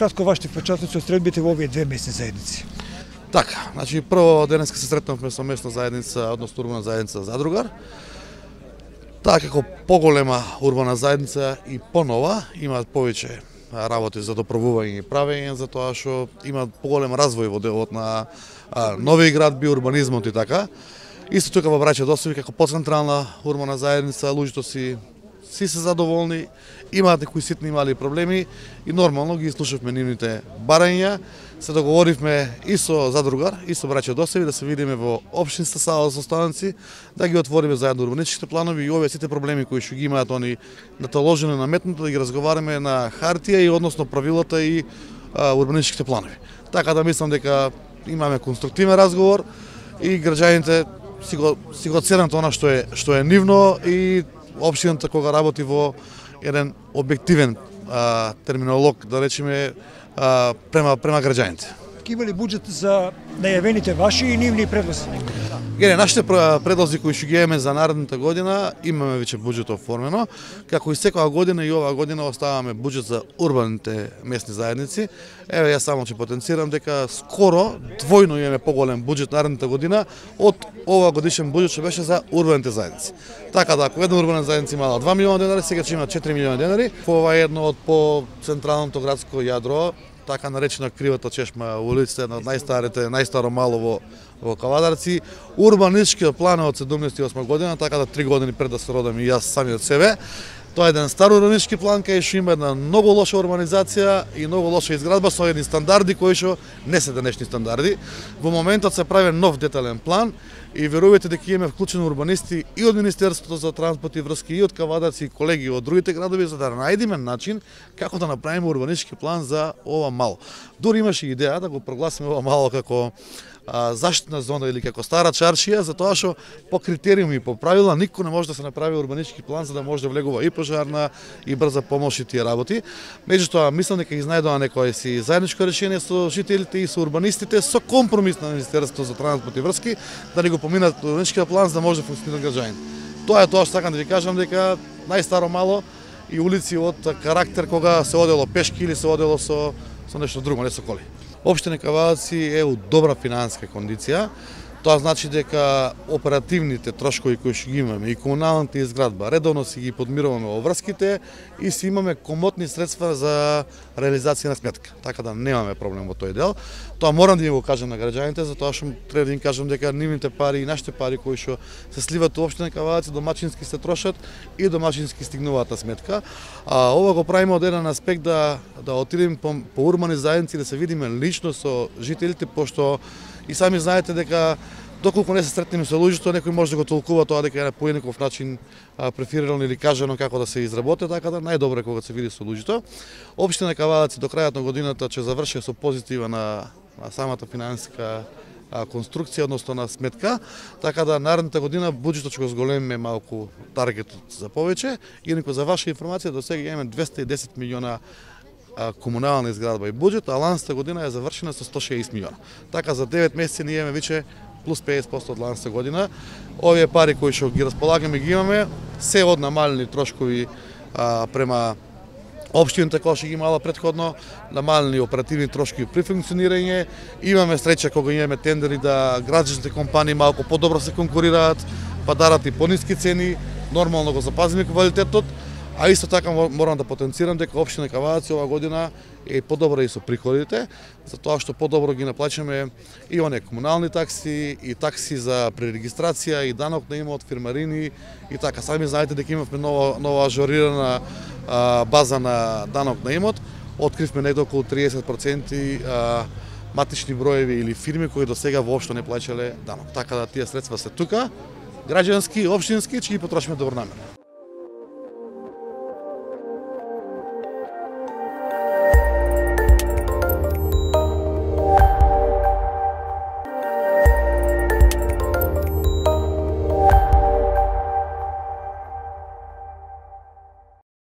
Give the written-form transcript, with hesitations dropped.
накратко вашите впечатоци од средбите во овие две месни заедници. Така, значи прво денеска се сретнавме со местна заедница, односно урбана заедница Задругар. Таа како поголема урбана заедница и понова имаат повеќе работи за доправување и правење, затоа што имаат поголем развој во делот на нови градби, урбанизмот и така. Исто тука во Браќа Досови како поцентрална урбана заедница, луѓето си се задоволни, имаат некои ситни мали проблеми и нормално ги слушавме нивните барања. Се договоривме и со Задругар, и со Браќа Досови да се видиме во општинска сала со станци, да ги отвориме заедно урбанистичките планови и овие сите проблеми кои што ги имаат они наталожено наметнато да ги разговараме на хартија и односно правилата и урбанистичките планови. Така да мислам дека имаме конструктивен разговор и граѓаните си го ценат она што е нивно и општината кога работи во еден објективен терминолог, да речеме, према граѓаните. Има ли буџет за најавените ваши и нивни предлози? Нашите предлози кои што ги имаме за наредната година, имаме веќе буџет оформено. Како и секоја година и оваа година оставаме буџет за урбаните местни заедници. Еве, јас само ќе потенцирам дека скоро двојно имаме поголем буџет наредната година од оваа годишен буџет што беше за урбаните заедници. Така да, ако една урбана заедница имала 2 милиона денари, сега ќе има 4 милиона денари. Ова е едно од по централното градско јадро, така наречена Кривата чешма улица, една од најстаро мало во Кавадарци. Урбанистичкиот план е од 78 година, така да 3 години пред да се родам и јас самиот себе. Тоа е еден стар урбанистички план кај што има една многу лоша урбанизација и многу лоша изградба со едни стандарди кои што не се денешни стандарди. Во моментот се прави нов детален план и верувајте дека имаме вклучени урбанисти и од Министерството за транспорт и врски и од Кавадарци и колеги од другите градови за да најдеме начин како да направиме урбанистички план за ова мало. Дури имаше идеја да го прогласиме ова мало како заштитна зона или како стара чаршија, затоа што по критериуми и по правила никој не може да се направи урбанистички план за да може да влегува и пожарна и брза помош и тие работи. Меѓутоа мислам дека изнајдува некое си заедничко решение со жителите и со урбанистите со компромис на Министерството за транспорт и врски да ни го поминат урбанистичкиот план за да може да функционира граѓаните. Тоа е тоа што сакам да ви кажам дека најстаро мало и улици од карактер кога се одело пешки или се одело со нешто друго, не со коли. Општина Кавадарци е у добра финансиска кондиција. Тоа значи дека оперативните трошкови кои што ги имаме и комуналната изградба редовно си ги подмируваме во врските и си имаме комотни средства за реализација на сметка. Така да немаме проблем во тој дел. Тоа морам да им го кажам на граѓаните, затоа што треба да им кажам дека нивните пари и нашите пари кои што се сливаат во општина Кавадарци домачински се трошат и домачински стигнуваат на сметка. Ова го правиме од еден аспект да отидеме по урбани заедници да се видиме лично со жителите, пошто и сами знаете дека доколку не се сретнеме со луѓето, некој може да го толкува тоа дека е на поинаков начин преферирано или кажано како да се изработи, така да најдобро е кога се види со луѓето. Општина Кавадарци до крајот на годината ќе заврши со позитива на самата финансиска конструкција, односно на сметка, така да наредната година буџетот ќе го зголемиме малку таргетот за повеќе. Инаку за ваша информација до сега имаме 210 милиона комунална изградба и буџет, а ланста година е завршена со 160 милиона. Така за 9 месеци ние имаме веќе плюс 50% од ланста година. Овие пари кои што ги располагаме ги имаме се од намалени трошкови према општината која што ги имала претходно, намалени оперативни трошкови при функционирање. Имаме среќа кога имаме тендери да граѓанските компании малку подобро се конкурираат, па дарат и пониски цени, нормално го запазиме квалитетот. А исто така морам да потенцирам дека општина Кавадарци оваа година е подобра и со приходите, затоа што подобро ги наплачаме и оние комунални такси, и такси за пререгистрација, и данок на имот, фирмарини и така. Сами знаете дека имавме нова ажорирана база на данок на имот. Откривме негде околу 30% матични броеви или фирми кои до сега воопшто не плаќале данок. Така да тие средства се тука, граѓански, општински, ќе ги потрошиме добронамерно.